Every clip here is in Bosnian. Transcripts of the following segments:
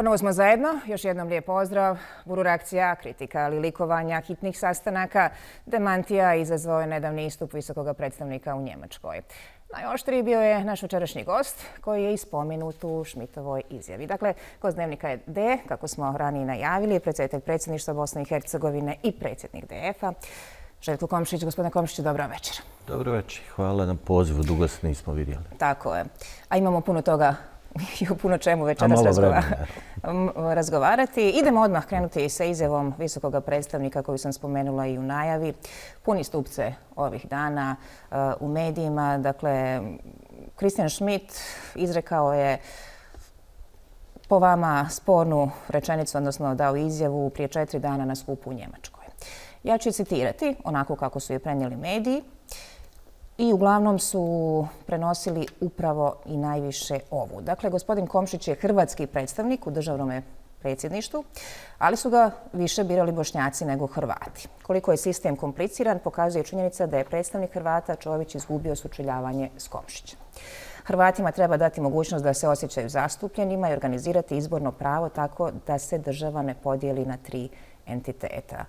Ponovo smo zajedno. Još jednom lijep pozdrav. Buru reakcija, kritika, ali likovanja, hitnih sastanaka, demantija izazvao je nedavni istup visokog predstavnika u Njemačkoj. Najoštriji bio je naš večerašnji gost koji je i spomenut u Schmidtovoj izjavi. Dakle, gost Dnevnika je D, kako smo ranije najavili, predsjedatelj predsjedništva Bosne i Hercegovine i predsjednik DF-a. Željko Komšić. Gospodine Komšiću, dobro večer. Dobro večer. Hvala na pozivu. Dugo se nismo vidjeli. Tako je. A imamo puno toga i o puno čemu večeras razgovarati. Idemo odmah krenuti sa izjavom visokog predstavnika koju sam spomenula i u najavi. Puni stupce ovih dana u medijima. Dakle, Christian Schmidt izrekao je po vama spornu rečenicu, odnosno dao izjavu prije 4 dana na skupu u Njemačkoj. Ja ću citirati onako kako su je prenijeli mediji. I uglavnom su prenosili upravo i najviše ovu. Dakle, gospodin Komšić je hrvatski predstavnik u državnom predsjedništvu, ali su ga više birali Bošnjaci nego Hrvati. Koliko je sistem kompliciran, pokazuje činjenica da je predstavnik Hrvata Čović izgubio sučeljavanje s Komšićem. Hrvatima treba dati mogućnost da se osjećaju zastupljenima i organizirati izborno pravo tako da se država ne podijeli na 3 entiteta.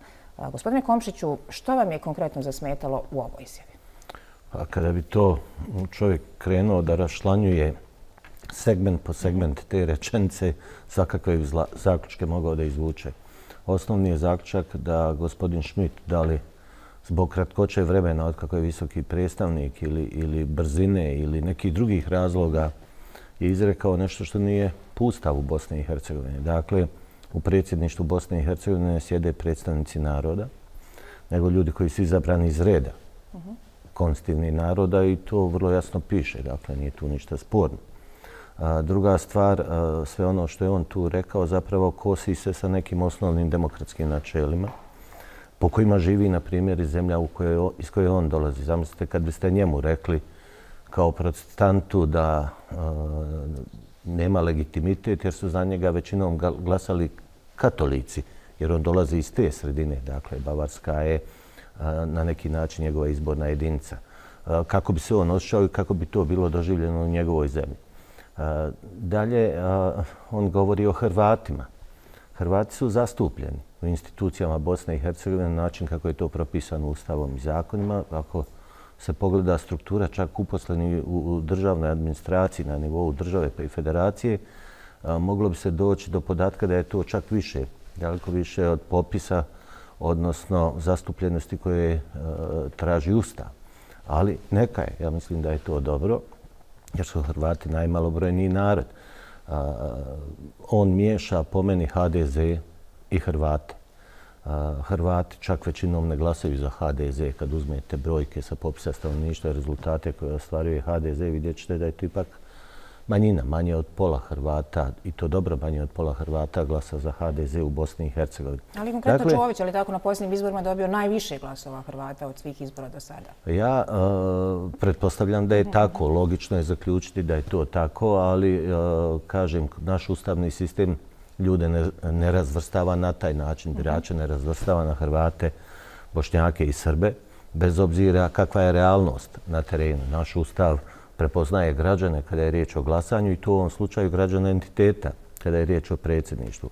Gospodine Komšiću, što vam je konkretno zasmetalo u ovoj izjavi? Kada bi to čovjek krenuo da raščlanjuje segment po segment te rečenice, svakakve zaključke mogao da izvuče. Osnovni je zaključak da gospodin Schmidt, da li zbog kratkoće vremena od kako je visoki predstavnik ili brzine ili nekih drugih razloga, je izrekao nešto što nije po Ustavu Bosne i Hercegovine. Dakle, u predsjedništvu Bosne i Hercegovine sjede predstavnici naroda, nego ljudi koji su izabrani iz reda konstitutivnih naroda i to vrlo jasno piše. Dakle, nije tu ništa sporno. Druga stvar, sve ono što je on tu rekao zapravo kosi se sa nekim osnovnim demokratskim načelima po kojima živi, na primjer, i zemlja iz koje on dolazi. Zamislite kad biste njemu rekli kao protestantu da nema legitimitet jer su za njega većinom glasali katolici, jer on dolazi iz te sredine. Dakle, Bavarska je na neki način njegova izborna jedinica. Kako bi se on osjećao i kako bi to bilo doživljeno u njegovoj zemlji. Dalje, on govori o Hrvatima. Hrvati su zastupljeni u institucijama Bosne i Hercegovine na način kako je to propisano Ustavom i zakonima. Ako se pogleda struktura čak uposleni u državnoj administraciji na nivou države pa i federacije, moglo bi se doći do podatka da je to čak više, daleko više od popisa, odnosno zastupljenosti koje traži Ustav. Ali neka je, ja mislim da je to dobro, jer su Hrvati najmalobrojniji narod. On miješa po meni HDZ i Hrvate. Hrvati čak većinom ne glasaju za HDZ. Kad uzmete brojke sa popisa stanovništva i rezultate koje ostvaruje HDZ, vidjet ćete da je to ipak manjina, manje od pola Hrvata, i to dobro manje od pola Hrvata glasa za HDZ u Bosni i Hercegovini. Ali konkretno Čović, ali tako na posljednjim izborima dobio najviše glasova Hrvata od svih izbora do sada? Ja pretpostavljam da je tako. Logično je zaključiti da je to tako, ali kažem, naš ustavni sistem ljude ne razvrstava na taj način. Birače ne razvrstava na Hrvate, Bošnjake i Srbe, bez obzira kakva je realnost na terenu. Naš ustav prepoznaje građane kada je riječ o glasanju i to u ovom slučaju građana entiteta kada je riječ o predsjedništvu.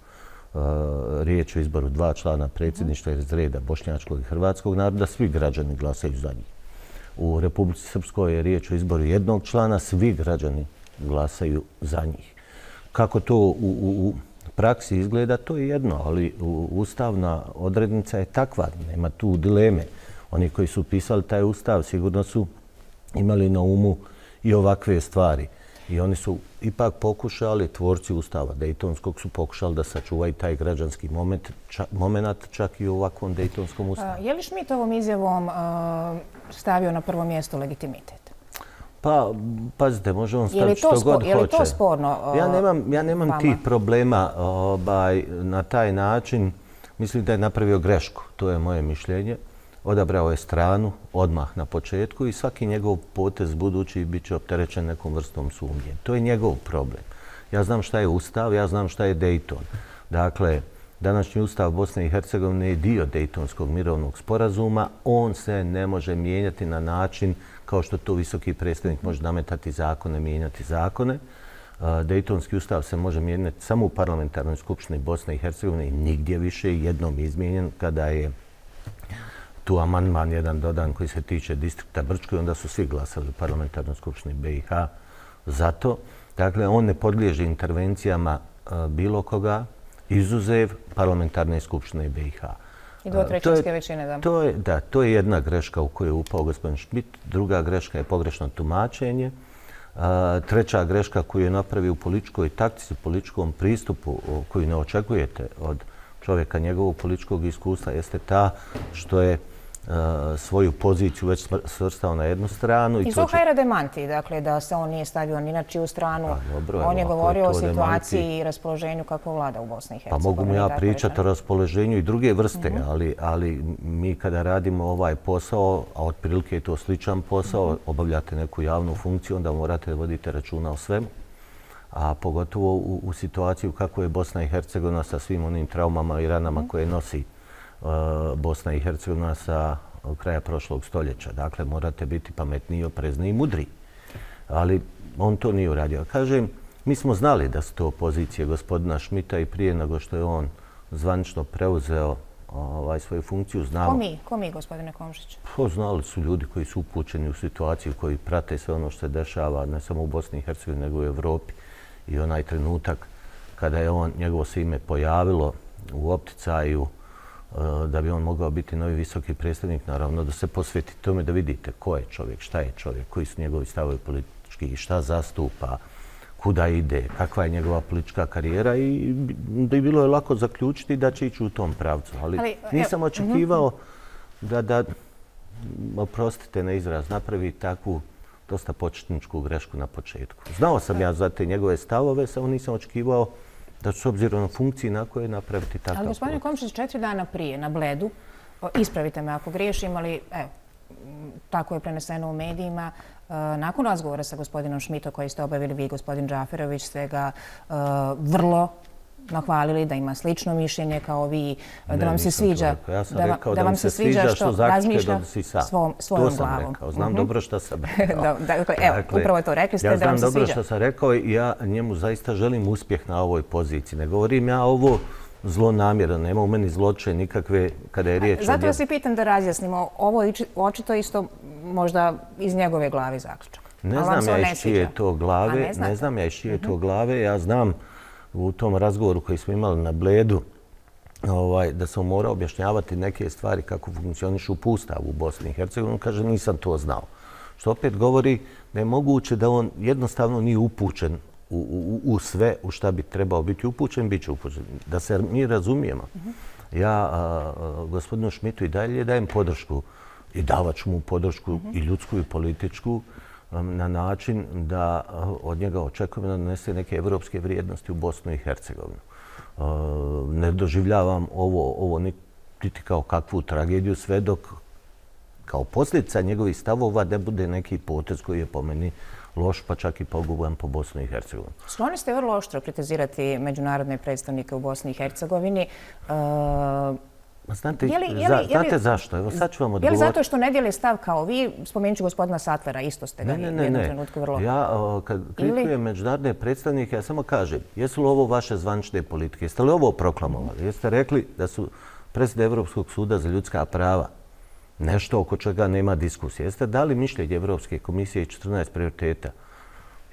Riječ o izboru 2 člana predsjedništva iz reda bošnjačkog i hrvatskog naroda, svi građani glasaju za njih. U Republici Srpskoj je riječ o izboru 1 člana, svi građani glasaju za njih. Kako to u praksi izgleda, to je jedno, ali ustavna odrednica je takva, nema tu dileme. Oni koji su pisali taj ustav sigurno su imali na umu i ovakve stvari. I oni su ipak pokušali, tvorci Ustava Dejtonskog su pokušali da sačuvaju taj građanski moment čak i u ovakvom Dejtonskom ustavu. Je li Schmidt ovom izjavom stavio na prvo mjesto legitimitet? Pa, pazite, može on staviti što god hoće. Je li to sporno? Ja nemam tih problema na taj način. Mislim da je napravio grešku, to je moje mišljenje. Odabrao je stranu odmah na početku i svaki njegov potez budući bit će opterećen nekom vrstom sumnje. To je njegov problem. Ja znam šta je Ustav, ja znam šta je Dejton. Dakle, današnji Ustav Bosne i Hercegovine je dio Dejtonskog mirovnog sporazuma. On se ne može mijenjati na način kao što to visoki predstavnik može nametati zakone, mijenjati zakone. Dejtonski ustav se može mijenjati samo u parlamentarnoj skupštini Bosne i Hercegovine i nigdje više, jednom izmijenjen kada je tu amandman jedan dodan koji se tiče distrikta Brčko i onda su svi glasali u parlamentarnoj skupštini BiH za to. Dakle, on ne podliježe intervencijama bilo koga, izuzev parlamentarne skupštine BiH. I dvotrećinske većine, da. To je jedna greška u koju je upao gospodin Schmidt. Druga greška je pogrešno tumačenje. Treća greška koju je napravio u političkoj taktici, političkom pristupu koju ne očekujete od čovjeka njegovog političkog iskustva jeste ta što je svoju poziciju već svrstao na jednu stranu. I Zuhair demanti, dakle, da se on nije stavio ni na čiju stranu. On je govorio o situaciji i raspoloženju kako vlada u Bosni i Hercegovini. Pa mogu mu ja pričati o raspoloženju i druge vrste, ali mi kada radimo ovaj posao, a otprilike je to sličan posao, obavljate neku javnu funkciju, onda morate voditi računa o svemu. A pogotovo u situaciju kako je Bosna i Hercegovina sa svim onim traumama i ranama koje nosi Bosna i Hercegovina sa kraja prošlog stoljeća. Dakle, morate biti pametniji, oprezni i mudri. Ali on to nije uradio. Kažem, mi smo znali da su to pozicije gospodina Schmidta i prije nego što je on zvanično preuzeo svoju funkciju. Ko mi, gospodine Komšić? Znali su ljudi koji su upućeni u situaciju, koji prate sve ono što se dešava ne samo u Bosni i Hercegovini, nego i u Evropi. I onaj trenutak kada je njegovo se ime pojavilo u opticaju da bi on mogao biti novi visoki predstavnik, naravno da se posveti tome da vidite ko je čovjek, šta je čovjek, koji su njegovi stavovi politički i šta zastupa, kuda ide, kakva je njegova politička karijera i bilo je lako zaključiti da će ići u tom pravcu. Ali nisam očekivao da, oprostite na izraz, napravi takvu dosta početničku grešku na početku. Znao sam ja za te njegove stavove, samo nisam očekivao da su s obzirom na funkciji na koje napraviti takav. Ali gospodine Komšić, 4 dana prije na Bledu, ispravite me ako griješim, ali evo, tako je preneseno u medijima, nakon razgovora sa gospodinom Schmidtom koji ste obavili vi, gospodin Džaferović, ste ga vrlo nahvalili da ima slično mišljenje kao vi, da vam se sviđa. Ja sam rekao da vam se sviđa što zaključke donosi sam. Svojom glavom. To sam rekao. Znam dobro što sam rekao. Evo, upravo to rekli ste da vam se sviđa. Ja znam dobro što sam rekao i ja njemu zaista želim uspjeh na ovoj poziciji. Ne govorim ja ovo zlonamjerno, nema u meni zloče nikakve kada je riječ o... Zato vas i pitam da razjasnimo. Ovo je očito isto možda iz njegove glave zaključak. Ne znam ja iz čije to glave. Ne znam ja iz čije to glave. Ja znam u tom razgovoru koji smo imali na Bledu da sam morao objašnjavati neke stvari kako funkcionišu Ustav u Bosni i Hercegovini. Kaže, nisam to znao. Što opet govori da je moguće da on jednostavno nije upućen u sve u šta bi trebao biti upućen, bit će upućen. Da se mi razumijemo. Ja gospodinu Schmidtu i dalje dajem podršku i davat ću mu podršku i ljudsku i političku na način da od njega očekujem da donese neke evropske vrijednosti u Bosnu i Hercegovinu. Ne doživljavam ovo niti kao kakvu tragediju sve dok kao posljedica njegovih stavova ne bude neki potez koji je po meni loš, pa čak i poguban po Bosnu i Hercegovini. Skloni ste vrlo oštro kritizirati međunarodne predstavnike u Bosni i Hercegovini. Znate zašto? Evo sad ću vam odgovoriti. Je li zato što ne dijeli stav kao vi? Spomenut ću gospodina Satvera, isto ste ga u jednom trenutku vrlo... Ja kad kritikujem međunarodne predstavnike, ja samo kažem, jesu li ovo vaše zvanične politike? Jeste li ovo proklamovali? Jeste rekli da su presude Evropskog suda za ljudska prava nešto oko čega nema diskusije? Jeste dali mišljenje Evropske komisije i 14 prioriteta?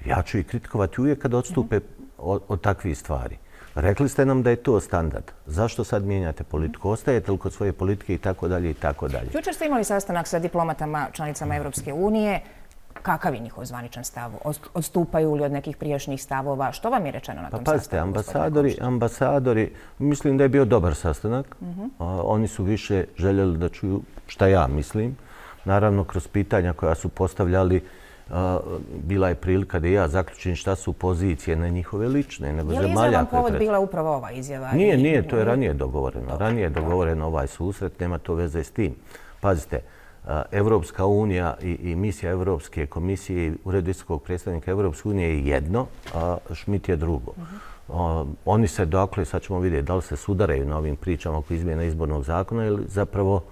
Ja ću ih kritikovati uvijek kad odstupe od takvih stvari. Rekli ste nam da je to standard. Zašto sad mijenjate politiku? Ostajete li kod svoje politike i tako dalje i tako dalje? Jučer ste imali sastanak sa diplomatama članicama Evropske unije. Kakav je njihov zvaničan stav? Odstupaju li od nekih prijašnjih stavova? Što vam je rečeno na tom sastanku? Pa pazite, ambasadori, mislim da je bio dobar sastanak. Oni su više željeli da čuju šta ja mislim. Naravno, kroz pitanja koja su postavljali, bila je prilika da ja zaključim šta su pozicije na njihove lične, nego zemalja. Je li izjavan povod bila upravo ova izjava? Nije, to je ranije dogovoreno. Ranije je dogovoreno ovaj susret, nema to veze s tim. Pazite, Evropska unija i misija Evropske komisije i Ured visokog predstavnika Evropske unije je jedno, a Schmidt je drugo. Oni se, dakle, sad ćemo vidjeti da li se sudaraju na ovim pričama oko izmjena izbornog zakona ili zapravo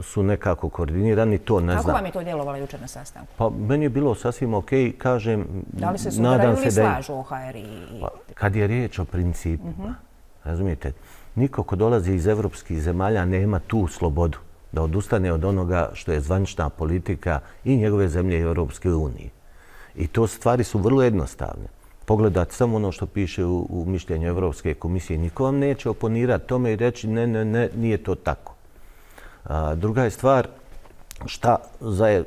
su nekako koordinirani, to ne znam. Kako vam je to djelovalo jučer na sastanku? Pa meni je bilo sasvim okej, kažem, da li se sudaraju ili slažu OHR i... Kad je riječ o principima, razumijete, niko ko dolazi iz evropskih zemalja nema tu slobodu da odustane od onoga što je zvanična politika i njegove zemlje i Europske unije. I to stvari su vrlo jednostavne. Pogledati samo ono što piše u mišljenju Evropske komisije. Niko vam neće oponirati tome i reći ne, nije to tako. Druga je stvar šta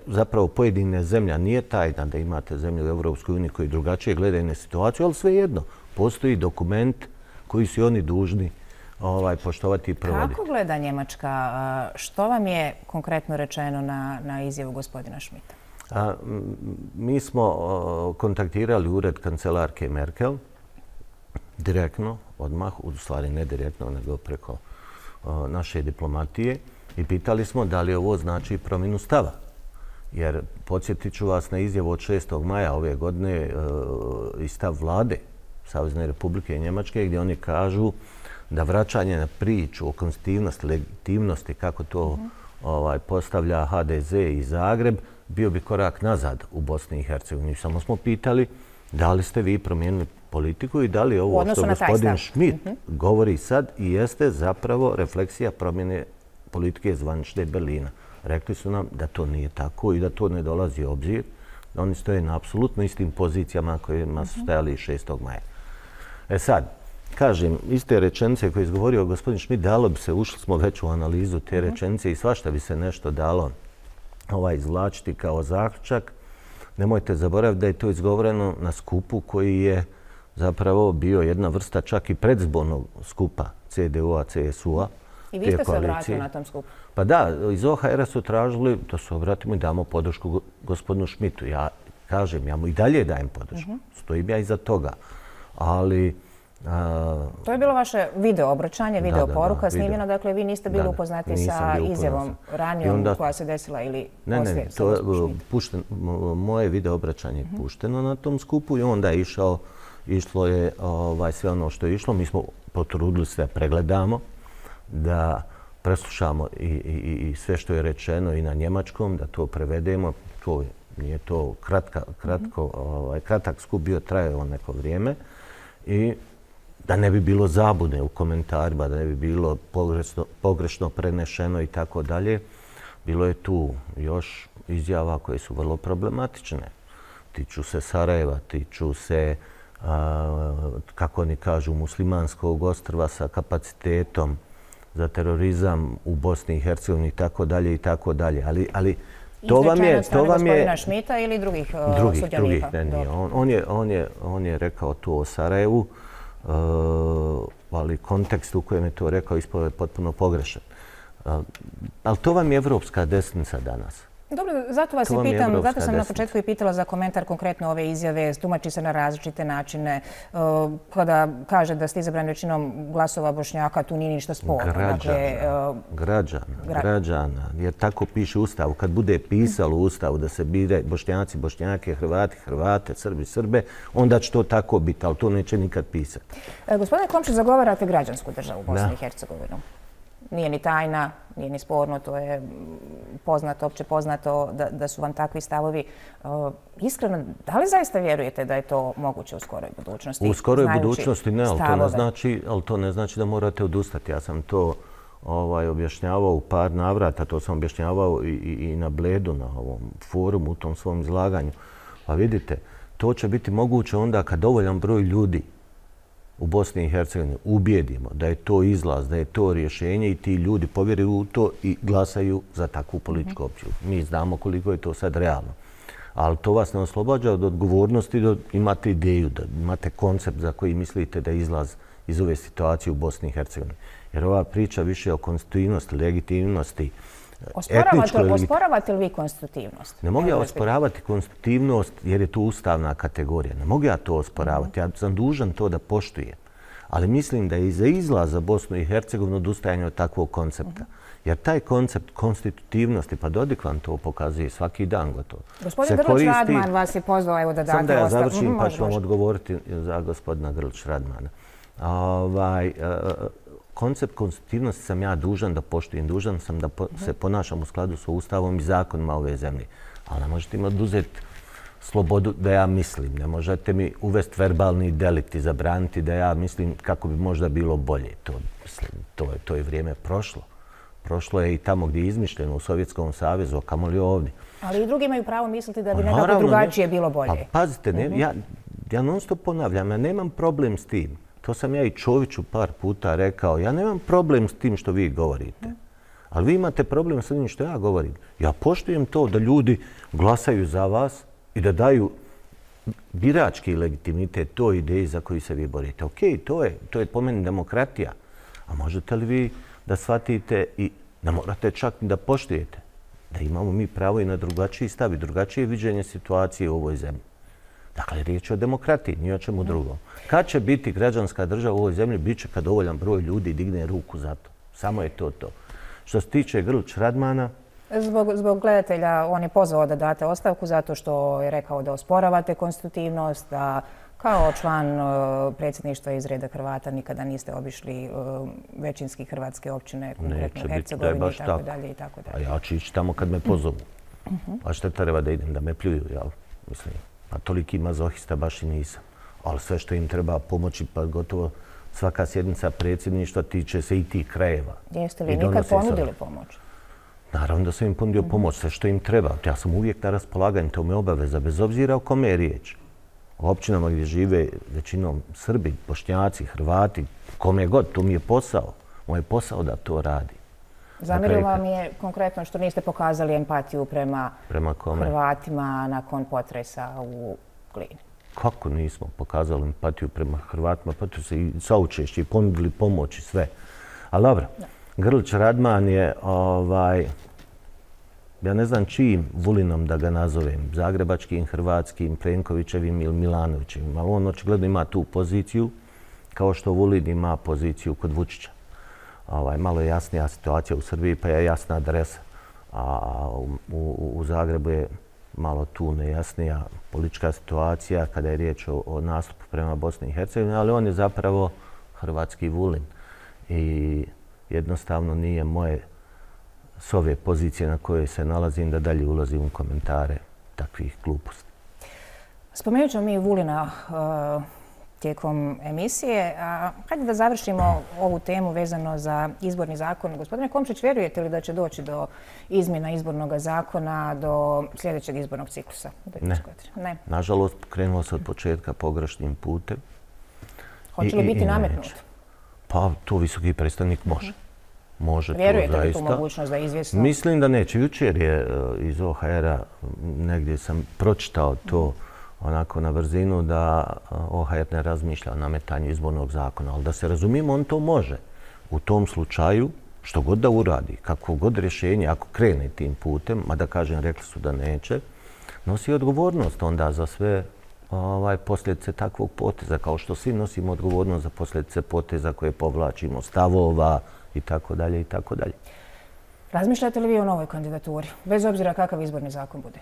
zapravo pojedine zemlja nije tajna da imate zemlje u Evropskoj uniji koji drugačije gledaju na situaciju, ali svejedno postoji dokument koji su oni dužni poštovati i provoditi. Kako gleda Njemačka? Što vam je konkretno rečeno na izjavu gospodina Schmidta? Mi smo kontaktirali ured kancelarke Merkel direktno, odmah, u stvari ne direktno, nego preko naše diplomatije i pitali smo da li ovo znači promjenu stava. Jer podsjetit ću vas na izjavu od 6. maja ove godine i stav vlade Savezne Republike Njemačke gdje oni kažu da vraćanje na priču o konstitutivnosti, legitimnosti, kako to postavlja HDZ i Zagreb, bio bi korak nazad u Bosni i Hercegovini. Samo smo pitali da li ste vi promijenili politiku i da li ovo što gospodin Schmidt govori sad i jeste zapravo refleksija promjene politike zvanične Berlina. Rekli su nam da to nije tako i da to ne dolazi u obzir. Oni stoje na apsolutno istim pozicijama kojima su stajali 6. maja. Sad, kažem, iste rečenice koje je izgovorio gospodin Schmidt, dalo bi se, ušli smo već u analizu te rečenice i svašta bi se nešto dalo izvlačiti kao zaključak. Nemojte zaboraviti da je to izgovoreno na skupu koji je zapravo bio jedna vrsta čak i predzbornog skupa CDU-a, CSU-a. I vi ste se obratili na tom skupu? Pa da, iz OHR-a su tražili da se obratimo i damo podršku gospodinu Schmidtu. Ja kažem, ja mu i dalje dajem podršku. Stojim ja iza toga. Ali... To je bilo vaše video obraćanje, video poruka snimljeno. Dakle, vi niste bili upoznati sa izjavom ranijom koja se desila ili poslije? Ne, moje video obraćanje je pušteno na tom skupu i onda je išlo je sve ono što je išlo. Mi smo potrudili se da pregledamo, da preslušamo i sve što je rečeno i na njemačkom, da to prevedemo. Nije to kratak skup bio, trajao neko vrijeme. I da ne bi bilo zabune u komentarima, da ne bi bilo pogrešno prenešeno i tako dalje. Bilo je tu još izjava koje su vrlo problematične. Tiču se Sarajeva, tiču se, kako oni kažu, muslimanskog ostrva sa kapacitetom za terorizam u Bosni i Hercegovini i tako dalje i tako dalje. Ali to vam je... Izrečeno od strane gospodina Schmidta ili drugih sudionika? Drugih, ne. On je rekao to o Sarajevu, ali kontekst u kojem je to rekao ispao je potpuno pogrešan. Ali to vam je evropska desnica danas. Dobro, zato vas i pitam, zato sam na početku i pitala za komentar konkretno ove izjave, tumači se na različite načine. Kada kaže da ste izabrani većinom glasova Bošnjaka, tu nije ništa sporno. Građana, jer tako piše u Ustavu. Kad bude pisalo u Ustavu da se bire Bošnjaci, Bošnjake, Hrvati, Hrvate, Srbi, Srbe, onda će to tako biti, ali to neće nikad pisati. Gospodine Komšić, zagovarate građansku državu Bosne i Hercegovinu. Nije ni tajna, nije ni sporno, to je poznato, opće poznato da su vam takvi stavovi. Iskreno, da li zaista vjerujete da je to moguće u skoroj budućnosti? U skoroj budućnosti ne, ali to ne znači da morate odustati. Ja sam to objašnjavao u par navrata, to sam objašnjavao i na Bledu, na ovom forumu, u tom svom izlaganju. Pa vidite, to će biti moguće onda kad dovoljan broj ljudi u Bosni i Hercegovini ubijedimo da je to izlaz, da je to rješenje i ti ljudi povjeruju u to i glasaju za takvu političku opciju. Mi znamo koliko je to sad realno. Ali to vas ne oslobađa od odgovornosti da imate ideju, da imate koncept za koji mislite da je izlaz iz ove situacije u Bosni i Hercegovini. Jer ova priča više o konstitutivnosti, legitimnosti, Osporavate li vi konstitutivnost? Ne mogu ja osporavati konstitutivnost jer je to ustavna kategorija. Ne mogu ja to osporavati. Ja sam dužan to da poštujem. Ali mislim da je i za izlaz za Bosnu i Hercegovinu odustajanje od takvog koncepta. Jer taj koncept konstitutivnosti, pa Dodik vam to pokazuje svaki dan gotovo. Gospodin Grlić-Radman vas je pozvao evo da date ostavku. Sam da ja završim pa ću vam odgovoriti za gospodina Grlić-Radmana. koncept konstitutivnosti sam ja dužan da poštujem, dužan sam da se ponašam u skladu sa Ustavom i zakonima ove zemlje. Ali ne možete mi oduzeti slobodu da ja mislim. Ne možete mi uvesti verbalni delikt i zabraniti da ja mislim kako bi možda bilo bolje. To je vrijeme prošlo. Prošlo je i tamo gdje je izmišljeno u Sovjetskom savezu, a kamoli ovdje. Ali i drugi imaju pravo misliti da bi nekako drugačije bilo bolje. Pa pazite, ja non stop ponavljam, ja nemam problem s tim. To sam ja i Čoviću par puta rekao. Ja nemam problem s tim što vi govorite. Ali vi imate problem s tim što ja govorim. Ja poštujem to da ljudi glasaju za vas i da daju birački legitimitet toj ideji za koju se vi borite. Okej, to je po meni demokratija. A možete li vi da shvatite i ne morate čak ni da poštujete da imamo mi pravo i na drugačiji stav i drugačije viđenje situacije u ovoj zemlji. Dakle, riječ je o demokratiji, ni o čemu drugom. Kad će biti građanska država u ovoj zemlji, bit će kad dovoljan broj ljudi digne ruku za to. Samo je to. Što se tiče Grlić Radmana... Zbog gledatelja on je pozvao da date ostavku zato što je rekao da osporavate konstitutivnost, da kao član predsjedništva iz reda Hrvata nikada niste obišli većinski hrvatske općine, konkretno Hercegovini i tako dalje. A ja ću ići tamo kad me pozovu. A šta treba da idem, da me pljuju, jel? Mislim, a toliki mazohista baš i nisam. Ali sve što im treba pomoći, pa gotovo svaka sjednica predsjedništva tiče se i tih krajeva. Jeste li nikad ponudili pomoć? Naravno da sam im ponudio pomoć, sve što im treba. Ja sam uvijek na raspolaganju, to me obaveza, bez obzira o kome je riječ. U općinama gdje žive većinom Srbi, Bošnjaci, Hrvati, kome god, to mi je posao. Moj je posao da to radi. Zamjerio vam je konkretno što niste pokazali empatiju prema Hrvatima nakon potresa u Glini. Kako nismo pokazali empatiju prema Hrvatima? Pa tu se i saučešći, ponudili pomoć i sve. Ali dobro, Grlić Radman je, ja ne znam čijim Vulinom da ga nazovem, zagrebačkim, hrvatskim, Plenkovićevim ili Milanovićevim, ali on očigledno ima tu poziciju kao što Vulin ima poziciju kod Vučića. Malo je jasnija situacija u Srbiji, pa je jasna adresa. A u Zagrebu je malo tu nejasnija politička situacija kada je riječ o nastupu prema Bosni i Hercegovini, ali on je zapravo hrvatski Vulin. I jednostavno nije moje s ove pozicije na kojoj se nalazim da dalje ulazim u komentare takvih gluposti. Spomenut ćemo mi Vulina tijekom emisije. Hajde da završimo ovu temu vezano za izborni zakon. Gospodine Komšić, vjerujete li da će doći do izmjena izbornog zakona do sljedećeg izbornog ciklusa? Ne. Nažalost, krenulo se od početka pogrešnim putem. Hoće li biti nametnut? Pa to visoki predstavnik može. Može to zaista. Vjerujete li tu mogućnost da je izvjesno? Mislim da neće. Jučer je iz OHR-a, negdje sam pročitao to onako na brzinu, da OHR ne razmišlja o nametanju izbornog zakona. Ali da se razumijemo, on to može. U tom slučaju, što god da uradi, kako god rješenje, ako krene tim putem, mada kažem, rekli su da neće, nosi odgovornost onda za sve posljedice takvog poteza, kao što svi nosimo odgovornost za posljedice poteza koje povlačimo, stavova i tako dalje i tako dalje. Razmišljate li vi o novoj kandidaturi, bez obzira kakav izborni zakon bude?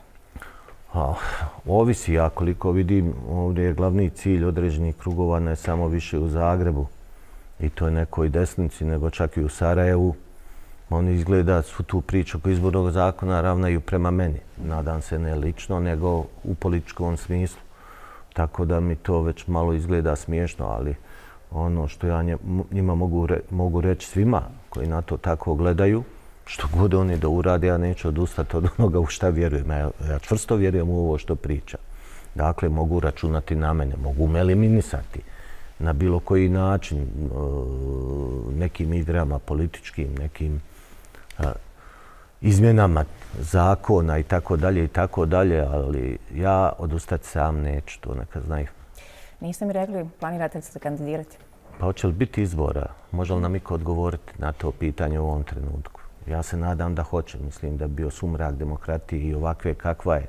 Ovisi, ja koliko vidim, ovdje je glavni cilj određenih krugova ne samo više u Zagrebu i to je nekoj desnici, nego čak i u Sarajevu. Oni izgleda svu tu priču oko izbornog zakona ravnaju prema meni. Nadam se ne lično, nego u političkom smislu. Tako da mi to već malo izgleda smiješno, ali ono što ja njima mogu reći svima koji na to tako gledaju, što god oni da urade, ja neću odustati od onoga u šta vjerujem. Ja čvrsto vjerujem u ovo što priča. Dakle, mogu računati na mene, mogu me eliminisati na bilo koji način, nekim igrama političkim, nekim izmjenama zakona i tako dalje, ali ja odustati sam neću, to neka znaju. Niste mi rekli, planirate se kandidirati? Pa hoće li biti izbora? Može li nam iko odgovoriti na to pitanje u ovom trenutku? Ja se nadam da hoće. Mislim da bi bio sumrak demokratije i ovakve kakva je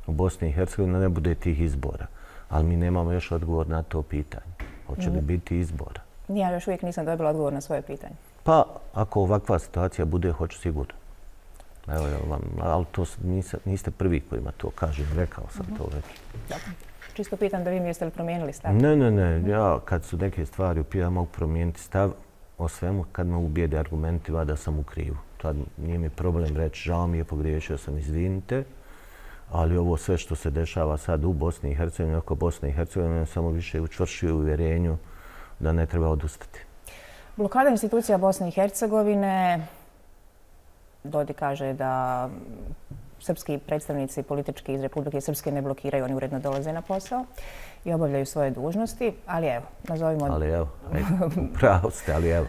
u Bosni i Hercegovini, ne bude tih izbora. Ali mi nemamo još odgovor na to pitanje. Hoće li biti izbora? Ja još uvijek nisam dobila odgovor na svoje pitanje. Pa, ako ovakva situacija bude, hoću sigurno. Evo, ali to niste prvi kojima to kažem. Rekao sam to već. Dobro. Čisto pitam da vi mi jeste li promijenili stav? Ne. Ja kad su neke stvari ja mogu promijeniti stav o svemu kad me ubijede argumentima da sam u krivu. Tad nije mi problem reći žao mi je, pogriješio sam, izvinite, ali ovo sve što se dešava sad u Bosni i Hercegovini, oko Bosne i Hercegovine, samo više učvršćuje u uvjerenju da ne treba odustati. Blokada institucija Bosne i Hercegovine, Dodik kaže da srpski predstavnici politički iz Republike Srpske ne blokiraju, oni uredno dolaze na posao i obavljaju svoje dužnosti, ali evo, nazovimo... Ali evo, pravo ste, ali evo.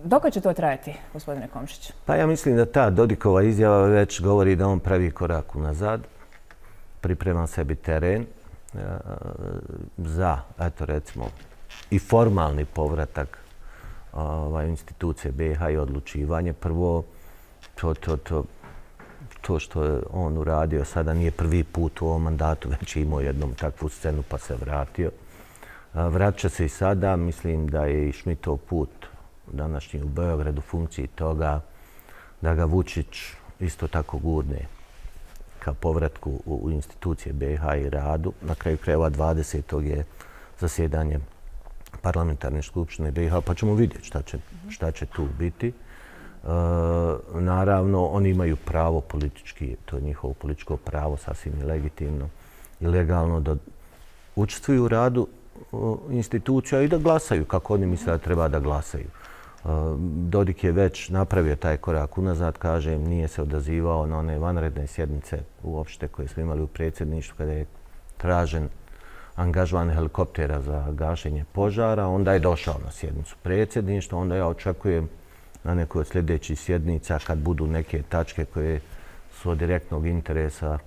Dok će to trajati, gospodine Komšić? Pa ja mislim da ta Dodikova izjava već govori da on pravi korak unazad, priprema sebi teren za, eto recimo, i formalni povratak institucije BiH i odlučivanje. Prvo, to što je on uradio sada nije prvi put u ovom mandatu, već je imao jednom takvu scenu pa se vratio. Vraća se i sada, mislim da je i Šmitov put današnji u Beogradu funkciji toga da ga Vučić isto tako gurne ka povratku u institucije BiH i radu. Na kraju krajeva 20. je zasjedanje parlamentarne skupštine BiH, pa ćemo vidjeti šta će tu biti. Naravno, oni imaju pravo politički, to je njihovo političko pravo, sasvim legitimno i legalno da učestvuju u radu institucija i da glasaju kako oni misle da treba da glasaju. Dodik je već napravio taj korak unazad, kažem, nije se odazivao na one vanredne sjednice uopšte koje smo imali u predsjedništvu kada je tražen angažman helikoptera za gašenje požara. Onda je došao na sjednicu predsjedništva, onda ja očekujem na nekoj od sljedećih sjednica kad budu neke tačke koje su od direktnog interesa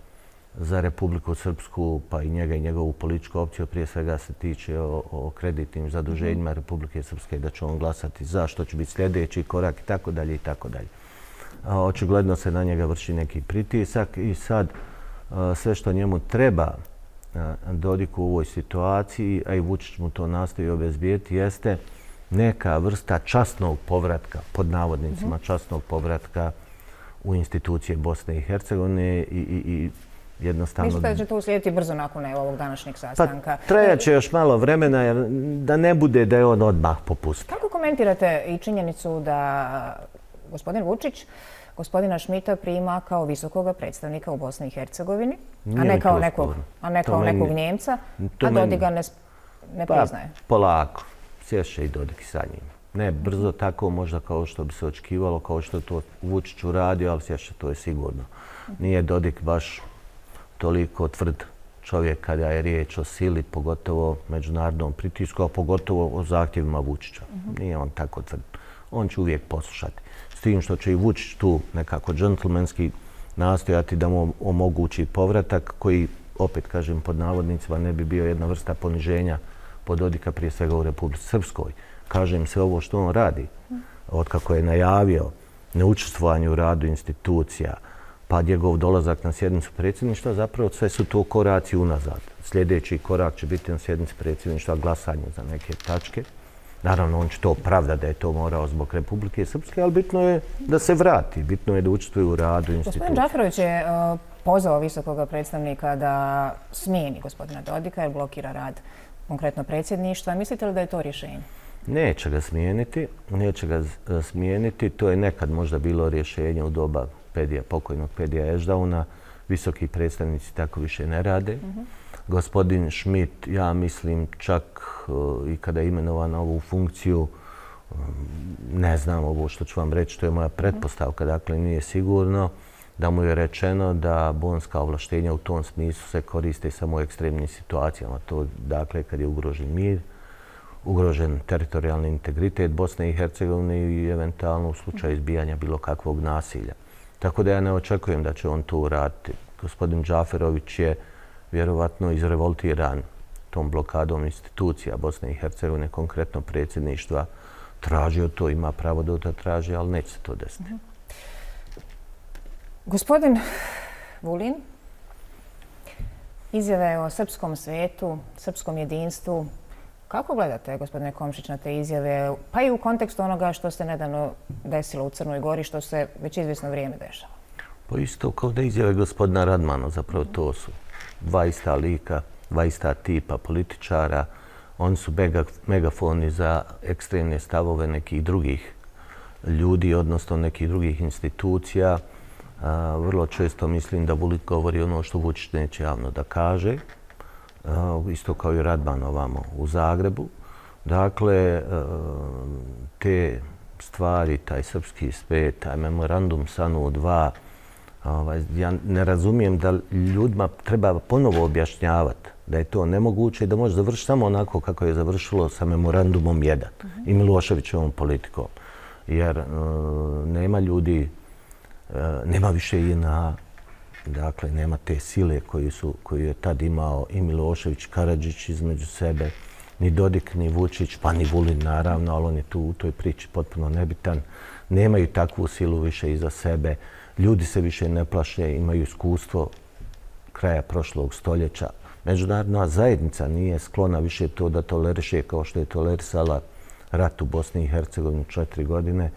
za Republiku Srpsku, pa i njega i njegovu političku opciju, prije svega se tiče o kreditnim zaduženjima Republike Srpske, da će on glasati za, što će biti sljedeći korak i tako dalje i tako dalje. Očigledno se na njega vrši neki pritisak i sad sve što njemu treba Dodiku u ovoj situaciji, a i Vučić mu to nastoji obezbijeti, jeste neka vrsta časnog povratka, pod navodnicima časnog povratka u institucije Bosne i Hercegovine i jednostavno... Mislite da će to uslijediti brzo nakon ovog današnjeg sastanka? Pa trajat će još malo vremena jer da ne bude da je on odmah popustio. Kako komentirate i činjenicu da gospodin Vučić gospodina Šmita prima kao visokog predstavnika u Bosni i Hercegovini, a ne kao nekog Njemca, a Dodik ga ne priznaje? Polako. Sješće i Dodik sa njim. Ne brzo tako možda kao što bi se očekivalo, kao što je to Vučić uradio, ali sješće to je sigurno. Nije Dodik baš toliko tvrd čovjek kada je riječ o sili, pogotovo međunarodnom pritisku, a pogotovo o zahtjevima Vučića. Nije on tako tvrd. On će uvijek poslušati. S tim što će i Vučić tu nekako džentlmenski nastojati da mu omogući povratak koji, opet kažem pod navodnicima, ne bi bio jedna vrsta poniženja pod Dodika, prije svega u Republici Srpskoj. Kažem sve ovo što on radi, otkako je najavio neučestvovanje u radu institucija, pa njegov dolazak na sjednicu predsjedništva, zapravo sve su to koraci unazad. Sljedeći korak će biti na sjednici predsjedništva glasanje za neke tačke. Naravno, on će to opravdati da je to morao zbog Republike Srpske, ali bitno je da se vrati, bitno je da učestvuje u radu institucija. Gospodin Džaferović je pozvao visokog predstavnika da smijeni gospodina Dodika jer blokira rad konkretno predsjedništva. Mislite li da je to rješenje? Neće ga smijeniti. To je nekad možda bilo rješenje u doba pokojnog Pedija Ešdauna. Visoki predstavnici tako više ne rade. Gospodin Šmit, ja mislim čak i kada je imenovan na ovu funkciju, ne znam ovo što ću vam reći, to je moja pretpostavka, dakle nije sigurno, da mu je rečeno da bonska ovlaštenja u tom smislu se koriste samo u ekstremnim situacijama. To dakle kad je ugrožen mir, ugrožen teritorijalni integritet Bosne i Hercegovine i eventualno u slučaju izbijanja bilo kakvog nasilja. Tako da ja ne očekujem da će on to uraditi. Gospodin Džaferović je vjerovatno izrevoltiran tom blokadom institucija Bosne i Hercegovine, konkretno predsjedništva, tražio to, ima pravo da to traži, ali neće se to desiti. Gospodin Vulin, izjave o srpskom svijetu, srpskom jedinstvu. Kako gledate, gospodine Komšić, na te izjave, pa i u kontekstu onoga što se nedavno desilo u Crnoj Gori, što se već izvjesno vrijeme dešava? Pa isto kao da izjave gospodina Radmana, zapravo to su dva ista lika, dva ista tipa političara. oni su megafoni za ekstremne stavove nekih drugih ljudi, odnosno nekih drugih institucija. Vrlo često mislim da Vulić govori ono što Vučić neće javno da kaže, isto kao i Radman ovamo u Zagrebu. Dakle, te stvari, taj srpski spet, taj memorandum SANU 2, ja ne razumijem da ljudima treba ponovo objašnjavati da je to nemoguće i da može završiti samo onako kako je završilo sa memorandumom 1 i Miloševićevom politikom. Jer nema ljudi, nema više JNA, dakle nema te sile koju je tad imao i Milošević, Karadžić između sebe, ni Dodik, ni Vučić, pa ni Vulin naravno, ali on je tu u toj priči potpuno nebitan. Nemaju takvu silu više iza sebe. Ljudi se više ne plaše, imaju iskustvo kraja prošlog stoljeća. Međunarodna zajednica nije sklona više to da toleriše kao što je tolerisala rat u Bosni i Hercegovini 4 godine.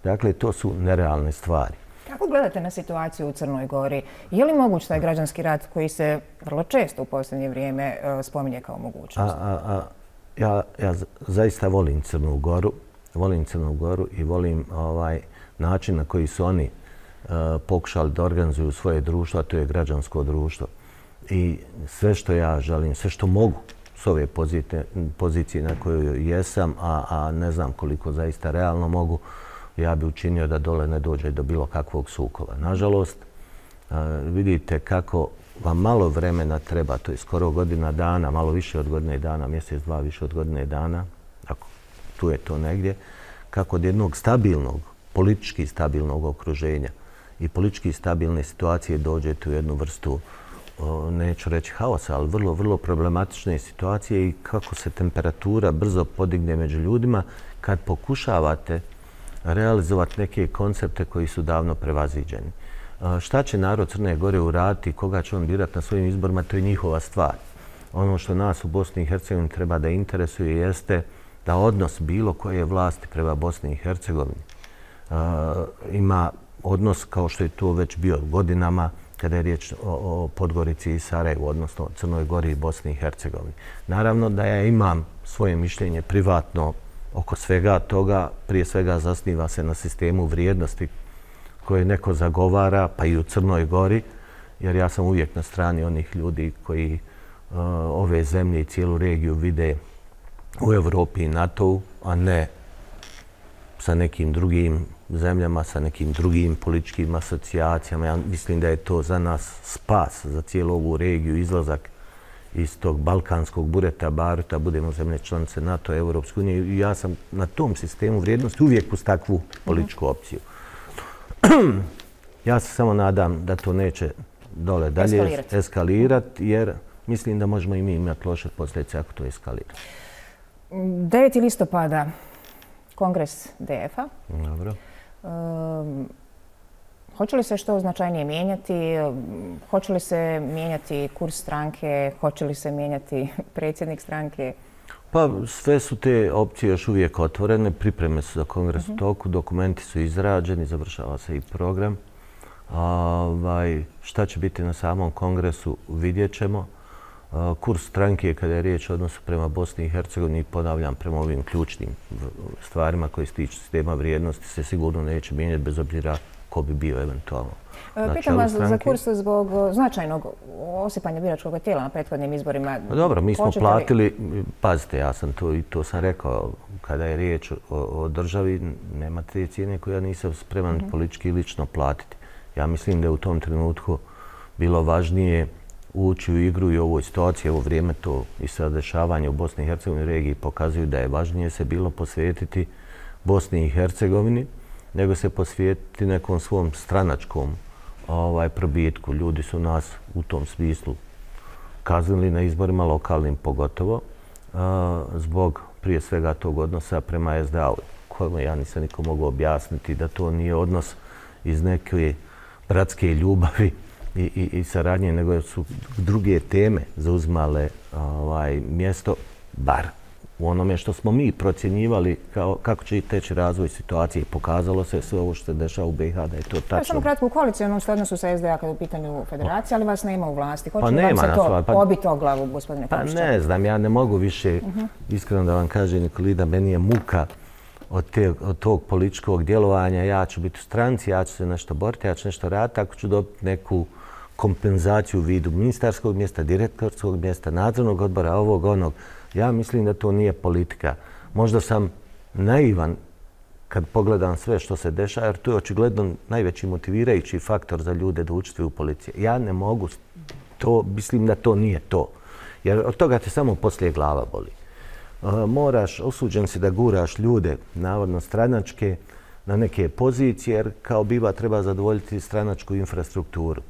Dakle, to su nerealne stvari. Kako gledate na situaciju u Crnoj Gori? Je li moguć taj građanski rat koji se vrlo često u posljednje vrijeme spominje kao mogućnost? Ja zaista volim Crnu Goru. Volim Crnu Goru i volim način na koji su oni pokušali da organizuju svoje društvo, a to je građansko društvo. I sve što ja želim, sve što mogu s ove pozicije na kojoj jesam, a ne znam koliko zaista realno mogu, ja bi učinio da dole ne dođe do bilo kakvog sukoba. Nažalost, vidite kako vam malo vremena treba, to je skoro godina dana, malo više od godine dana, mjesec, dva više od godine dana, ako tu je to negdje, kako od jednog stabilnog, politički stabilnog okruženja i politički stabilne situacije dođete u jednu vrstu, neću reći haosa, ali vrlo, vrlo problematične situacije i kako se temperatura brzo podigne među ljudima kad pokušavate realizovati neke koncepte koji su davno prevaziđeni. Šta će narod Crne Gore uraditi, koga će on birati na svojim izborima, to je njihova stvar. Ono što nas u Bosni i Hercegovini treba da interesuje jeste da odnos bilo koje vlasti prema Bosni i Hercegovini ima odnos kao što je to već bio godinama kada je riječ o Podgorici i Sarajevu, odnosno Crnoj Gori i Bosni i Hercegovini. Naravno da ja imam svoje mišljenje privatno oko svega toga, prije svega zasniva se na sistemu vrijednosti koje neko zagovara, pa i u Crnoj Gori, jer ja sam uvijek na strani onih ljudi koji ove zemlje i cijelu regiju vide u Evropi i NATO-u, a ne sa nekim drugim zemljama, sa nekim drugim političkim asocijacijama. Ja mislim da je to za nas spas, za cijelu ovu regiju, izlazak iz tog balkanskog bureta, baruta, budemo zemlje članice NATO, Evropske unije. I ja sam na tom sistemu vrijednosti uvijek uz takvu političku opciju. Ja se samo nadam da to neće dole dalje eskalirati, jer mislim da možemo i mi imati loše posljedice ako to eskalira. 9. listopada, Kongres DF-a. Dobro. Hoće li se što značajnije mijenjati? Hoće li se mijenjati kurs stranke? Hoće li se mijenjati predsjednik stranke? Pa sve su te opcije još uvijek otvorene. Pripreme su za kongres u toku, dokumenti su izrađeni, završava se i program. Šta će biti na samom kongresu vidjet ćemo. Kurs stranke kada je riječ o odnosu prema Bosni i Hercegovini, ponavljam, prema ovim ključnim stvarima koje se tiču sistema vrijednosti, se sigurno neće mijenjati bez obzira ko bi bio eventualno na čelu stranke. Pitam vas za kurs zbog značajnog osipanja biračkog tijela na prethodnim izborima. Dobro, mi smo platili, pazite, ja sam to sam rekao, kada je riječ o državi, nema te cijene koje ja nisam spreman politički i lično platiti. Ja mislim da je u tom trenutku bilo važnije ući u igru i u ovoj situaciji, evo vrijeme to i sad dešavanje u Bosni i Hercegovini regiji pokazuju da je važnije se bilo posvetiti Bosni i Hercegovini nego se posvetiti nekom svom stranačkom probitku. Ljudi su nas u tom smislu kaznili na izborima lokalnim pogotovo zbog prije svega tog odnosa prema SDA-u kojima ja nisam niko mogu objasniti da to nije odnos iz neke bratske ljubavi i saradnje, nego su druge teme zauzmale mjesto, bar u onome što smo mi procjenjivali kako će teći razvoj situacije. I pokazalo se sve ovo što se dešava u BiH da je to tačno. Samo kratko, u koalicijnom ste odnosu sa SDA kada je u pitanju federacije, ali vas nema u vlasti. Hoće Pa li vam nema se nas, to pa- pobiti o glavu, gospodine Pa Komšića? ne znam, ja ne mogu više, iskreno da vam kažem, Nikolida, meni je muka od tog političkog djelovanja. Ja ću biti u stranci, ja ću se nešto boriti, ja ću nešto raditi, ako ću dobiti neku kompenzaciju u vidu ministarskog mjesta, direktorskog mjesta, nadzornog odbora, ovog, onog. Ja mislim da to nije politika. Možda sam naivan kad pogledam sve što se dešava, jer to je očigledno najveći motivirajući faktor za ljude da učestvuju u policiji. Ja ne mogu to, mislim da to nije to. Jer od toga te samo poslije glava boli. Moraš, osuđen si da guraš ljude, navodno stranačke, na neke pozicije, jer kao biva treba zadovoljiti stranačku infrastrukturu.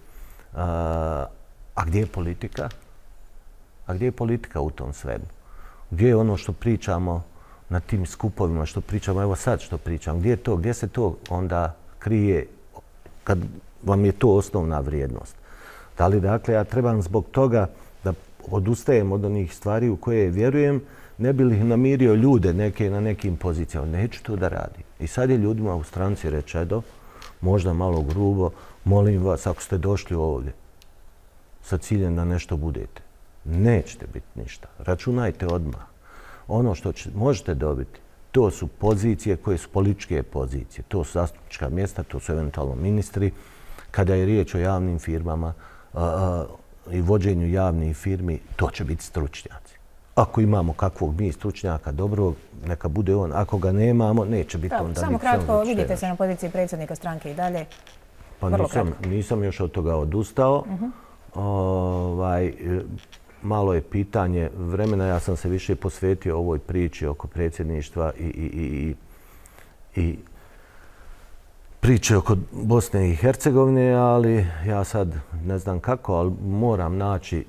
A gdje je politika? A gdje je politika u tom svemu? Gdje je ono što pričamo na tim skupovima, što pričamo, evo sad što pričam, gdje je to, gdje se to onda krije kad vam je to osnovna vrijednost? Da li, dakle, ja trebam zbog toga da odustajem od onih stvari u koje vjerujem, ne bi li namirio ljude neke na nekim pozicijama. Neću to da radim. I sad je ljudima u stranci rečeno, možda malo grubo, molim vas, ako ste došli ovdje sa ciljem da nešto budete, nećete biti ništa. Računajte odmah. Ono što možete dobiti, to su pozicije koje su političke pozicije. To su zastupnička mjesta, to su eventualno ministri. Kada je riječ o javnim firmama i vođenju javnih firmi, to će biti stručnjaci. Ako imamo kakvog mi stručnjaka dobrog, neka bude on. Ako ga nemamo, neće biti onda. Samo kratko, vidite se na poziciji predsjednika stranke i dalje. Pa nisam još od toga odustao. Malo je pitanje vremena. Ja sam se više posvetio ovoj priči oko predsjedništva i priče oko Bosne i Hercegovine, ali ja sad ne znam kako, ali moram naći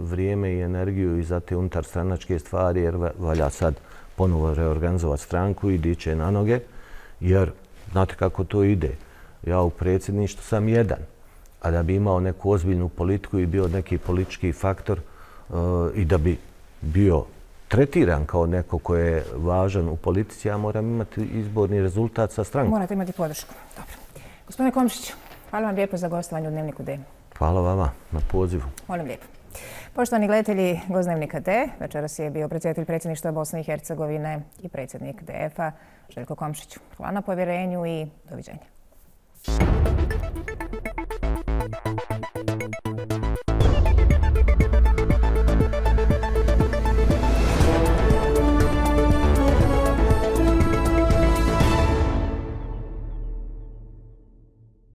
vrijeme i energiju i za te unutarstranačke stvari, jer valja sad ponovo reorganizovati stranku i dići na noge, jer znate kako to ide. Ja u predsjedništvu sam jedan, a da bi imao neku ozbiljnu politiku i bio neki politički faktor i da bi bio tretiran kao neko ko je važan u politici, ja moram imati izborni rezultat sa strankom. Morate imati podršku. Dobro. Gospodine Komšiću, hvala vam lijepo za gostovanje u Dnevniku D. Hvala vama na pozivu. Molim lijepo. Poštovani gledatelji Gost Dnevnika D, večeras je bio predsjedatelj predsjedništva Bosne i Hercegovine i predsjednik DF-a Željko Komšić. Hvala na povjerenju i doviđenja.